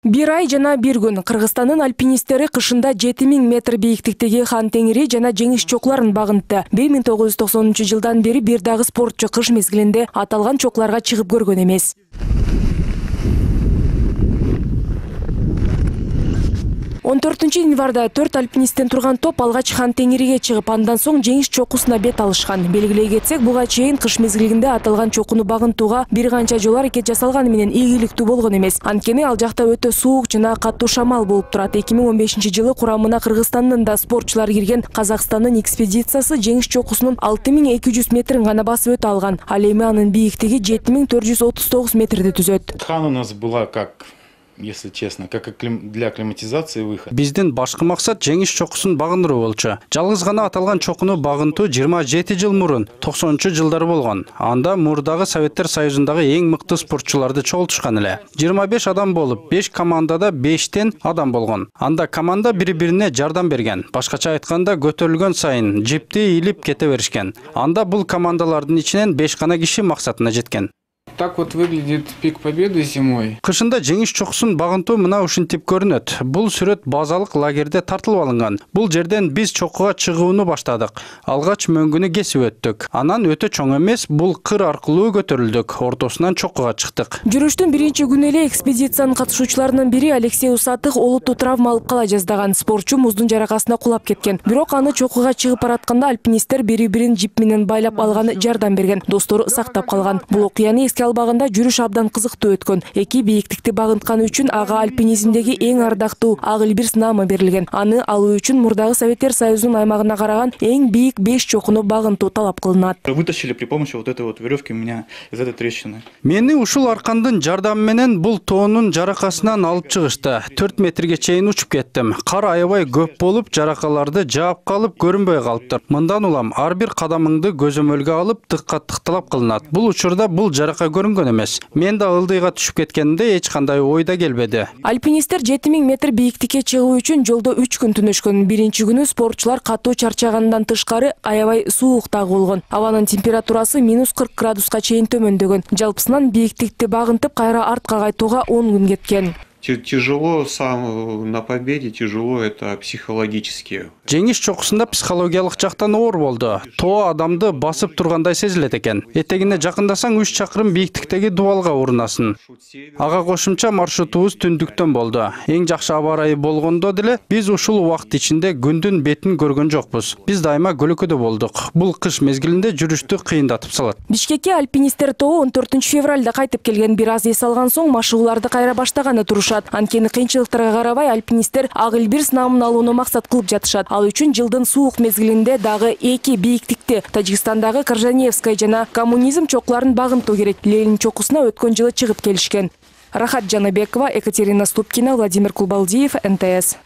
Bir ай жана bir күн Кыргызстандын альпинисттери кышында 7000 метр бийиктиктеги Хан Теңири жана жеңиш чокларын багынтты. 1990 жылдан бери бир дагы спортчу кыш мезгилинде аталган чокларга чыгып көргөн эмес. 14 январда 4 альпинисттен турган топ алгач Хан Теңириге чыгып, андан соң жеңиш чокусуна бет алышкан. Белгилей кетсек, буга чейин кыш мезгилинде аталган чокуну багынтууга бир канча жол аракет жасалганы менен ийгиликтүү болгон эмес. Анткени ал жакта өтө суук жана катуу шамал болуп турат. 2015 жылы курамына Кыргызстандын да спортчулар кирген Казакстандын экспедициясы жеңиш чокусунун 6200 метрин гана басып өтө алган. Ал эми анын бийиктиги 7439 метрди түзөт. Хан у нас была как, если честно, как для акклиматизации выход. Биздин башкы максат жеңиш чокусун багындыруу болчу. Жалгыз гана аталган чокуну багынтуу 27 жыл мурун 90-жылдары болгон. Анда мурдагы Советтер Союзундагы эң мыкты спортчуларды чогултушкан эле. 25 адам болуп, 5 командада 5тен адам болгон. Анда команда бири-бирине жардам берген. Башкача айтканда, көтөрүлгөн сайын жипти илип кете беришкен. Анда бул командалардын ичинен 5 гана киши максатына жеткен. Так вот выглядит пик Победы зимой. Кышында жеңиш чокусун багынтуу мына ушинтип көрүнөт. Бул сүрөт базалык лагерде тартылып алынган. Бул жерден биз чокуга чыгууну баштадык. Алгач мөңгүнү кесип өттүк. Анан өтө чоң эмес, бул кыр аркылуу көтөрүлдүк. Ортосунан чокуга чыктык. Жүрүштүн биринчи күнү эле экспедициянын катышуучуларынын бири Алексей Усатых олуттуу травма алып кала жаздаган. Спортчу муздун жаракасына кулап кеткен. Бирок аны чокуга чыгып баратканда альпинисттер бири-бирин жип менен байлап алганы жардам берген. Достору сактап калган. Бул окуяны эске албаганда жүрүш абдан кызыктуу өткөн. Эки бийиктикти багынтканы үчүн ага альпинизмдеги эң ардактуу Ак Элбирс наамы берилген. Аны алуу үчүн мурдагы Советтер Союзунун аймагына караган эң бийик 5 чокуну багынтуу талап кылынат. Вытащили при помощи вот этой вот веревки меня из этой трещины. Мени ушул аркандын жардамы менен бул тоонун жаракасынан алып чыгышты. 4 метрге чейин учуп кеттим. Кар аябай көп болуп, жаракаларды жаап калып көрүнбөй калыптыр. Мындан улам ар бир кадамыңды көзөмөлгө алып тыктап кылынат. Бул учурда бул жарака көрүнгөн эмес. Мен да ылдыйга түшүп кеткенде эч кандай ойда келбеди. Альпинисттер 7000 метр бийиктикке чыгуу үчүн жолдо 3 күн түнөшкөн. Биринчи күнү спортчулар катуу чарчагандан тышкары аябай суук дагы болгон. Абанын температурасы -40 градуска чейин төмөндөгөн. Жалпысынан бийиктикти багынтып кайра артка кайтууга 10 күн кеткен. Тяжело сам на победе, тяжело это психологически. Жеңиш чокусунда психологиялык жактан оор болду. Тоо адамды басып тургандай сезилет экен. Этегине жакындасаң 3 чакырым бийиктиктеги дубалга урунасың. Ага кошумча маршрутубуз түндүктөн болду. Эң жакшы аба ырайы болгондо деле биз ушул убакыт ичинде күндүн бетин көргөн жокпуз. Биз дайыма көлөкөдө болдук. Бул кыш мезгилинде жүрүштү кыйындатып салат. Бишкекке альпинисттер тобу 14 февралда кайтып келген. Бир аз эс алган соң машыгууларды кайра баштаганы турушат. Анткени кыйынчылыктарга карабай альпинисттер Ак Элбирс наамын алууну максат кылып жатышат. Ал үчүн жылдын суук мезгилинде дагы эки бийиктикти Тажикстандагы Коржаневская жана Коммунизм чокларын багынтуу керек. Ленин чокусуна өткөн жылы чыгып келишкен. Рахат Жаныбекова, Екатерина Ступкина, Владимир Кулбалдиев, НТС.